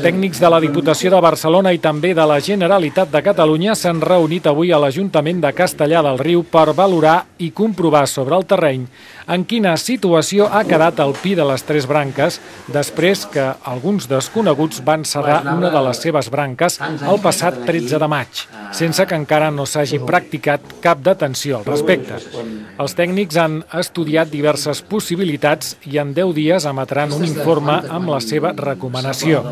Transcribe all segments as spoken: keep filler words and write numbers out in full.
Tècnics de la Diputació de Barcelona i també de la Generalitat de Catalunya s'han reunit avui a l'Ajuntament de Castellar del Riu per valorar i comprovar sobre el terreny en quina situació ha quedat el Pi de les Tres Branques després que alguns desconeguts van serrar una de les seves branques el passat tretze de maig, sense que encara no s'hagi practicat cap detenció al respecte. Els tècnics han estudiat diverses possibilitats i en deu dies emetran un informe amb la seva recomanació.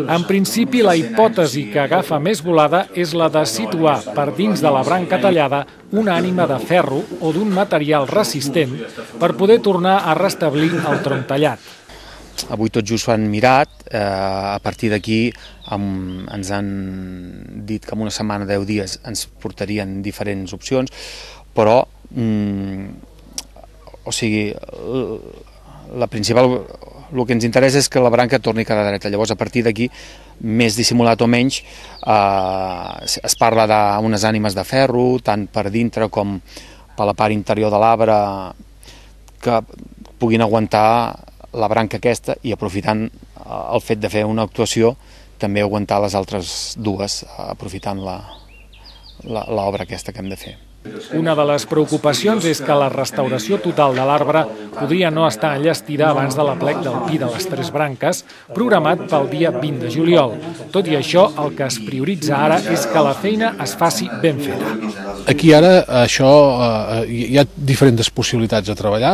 En principi, la hipòtesi que agafa més volada és la de situar per dins de la branca tallada una ànima de ferro o d'un material resistent per poder tornar a restablir el tronc tallat. Avui tot just ho han mirat, eh, a partir d'aquí ens han dit que en una setmana, deu dies, ens portarien diferents opcions, però mm, o sigui, la principal, el que ens interessa és que la branca torni a quedar dreta. Llavors, a partir d'aquí, més dissimulat o menys, eh, es parla d'unes ànimes de ferro, tant per dintre com per la part interior de l'arbre, que puguin aguantar la branca aquesta i, aprofitant el fet de fer una actuació, també aguantar les altres dues, aprofitant l'obra aquesta que hem de fer. Una de les preocupacions és que la restauració total de l'arbre podria no estar enllestida abans de l'aplec del Pi de les Tres Branques, programat pel dia vint de juliol. Tot i això, el que es prioritza ara és que la feina es faci ben feta. Aquí ara això, eh, hi ha diferents possibilitats de treballar.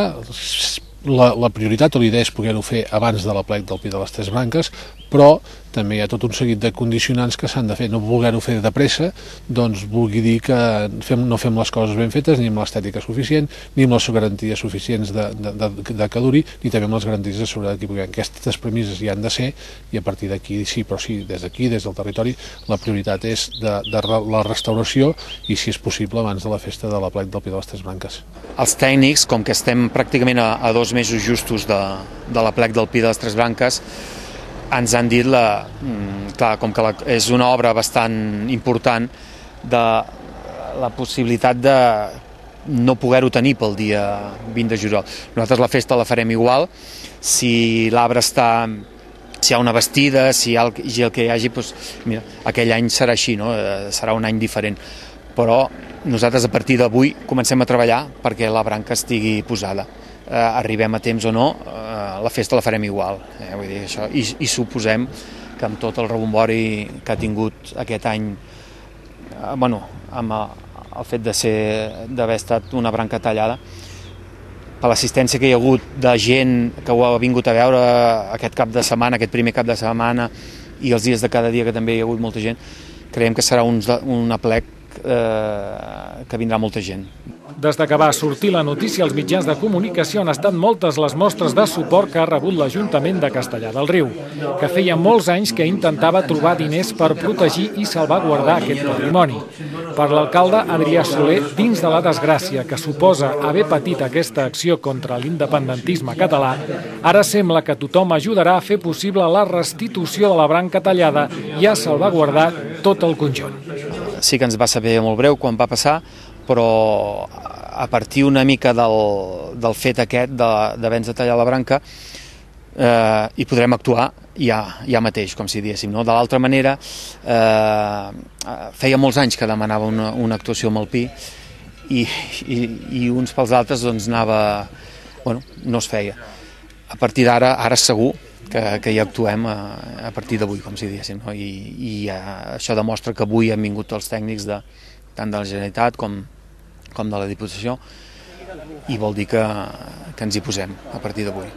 La, la prioritat o l'idea és poder-ho fer abans de l'aplec del Pi de les Tres Branques, però també hi ha tot un seguit de condicionants que s'han de fer. No voler-ho fer de pressa, doncs vulgui dir que fem, no fem les coses ben fetes, ni amb l'estètica suficient, ni amb les garanties suficients de, de, de, de que duri, ni també amb les garanties de seguretat que puguem. Aquestes premisses hi han de ser, i a partir d'aquí sí, però sí, des d'aquí, des del territori, la prioritat és de, de la restauració i, si és possible, abans de la festa de l'aplec del Pi de les Tres Branques. Els tècnics, com que estem pràcticament a, a dos mesos justos de, de l'aplec del Pi de les Tres Branques, ens han dit, la, clar, com que la, és una obra bastant important, de la possibilitat de no poder-ho tenir pel dia vint de juliol. Nosaltres la festa la farem igual, si l'arbre està, si hi ha una vestida, si hi ha el, el que hi hagi, doncs, mira, aquell any serà així, no? Serà un any diferent. Però nosaltres a partir d'avui comencem a treballar perquè la branca estigui posada. Eh, arribem a temps o no, eh, la festa la farem igual, eh, vull dir, això. I, i suposem que amb tot el rebombori que ha tingut aquest any, eh, bueno, amb el fet de ser d'haver estat una branca tallada, per l'assistència que hi ha hagut de gent que ho ha vingut a veure aquest cap de setmana, aquest primer cap de setmana, i els dies de cada dia que també hi ha hagut molta gent, creiem que serà un, un aplec eh, que vindrà molta gent. Des de que va sortir la notícia als mitjans de comunicació han estat moltes les mostres de suport que ha rebut l'Ajuntament de Castellar del Riu, que feia molts anys que intentava trobar diners per protegir i salvaguardar aquest patrimoni. Per l'alcalde Adrià Soler, dins de la desgràcia que suposa haver patit aquesta acció contra l'independentisme català, ara sembla que tothom ajudarà a fer possible la restitució de la branca tallada i a salvaguardar tot el conjunt. Sí que ens va saber molt breu quan va passar, però a partir una mica del, del fet aquest d'haver-nos de tallar la branca eh, hi podrem actuar ja, ja mateix, com si diéssim. No? De l'altra manera, eh, feia molts anys que demanava una, una actuació amb el Pi i, i, i uns pels altres doncs anava, bueno, no es feia. A partir d'ara, ara segur que, que hi actuem a, a partir d'avui, com si diéssim. No? I, i uh, això demostra que avui han vingut els tècnics de, tant de la Generalitat com, com de la Diputació, i vol dir que, que ens hi posem a partir d'avui.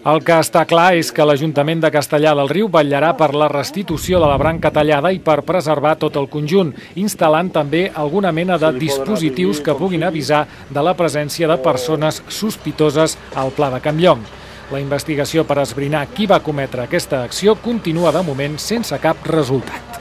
El que està clar és que l'Ajuntament de Castellar del Riu vetllarà per la restitució de la branca tallada i per preservar tot el conjunt, instal·lant també alguna mena de dispositius que puguin avisar de la presència de persones sospitoses al Pla de Can Llong. La investigació per esbrinar qui va cometre aquesta acció continua de moment sense cap resultat.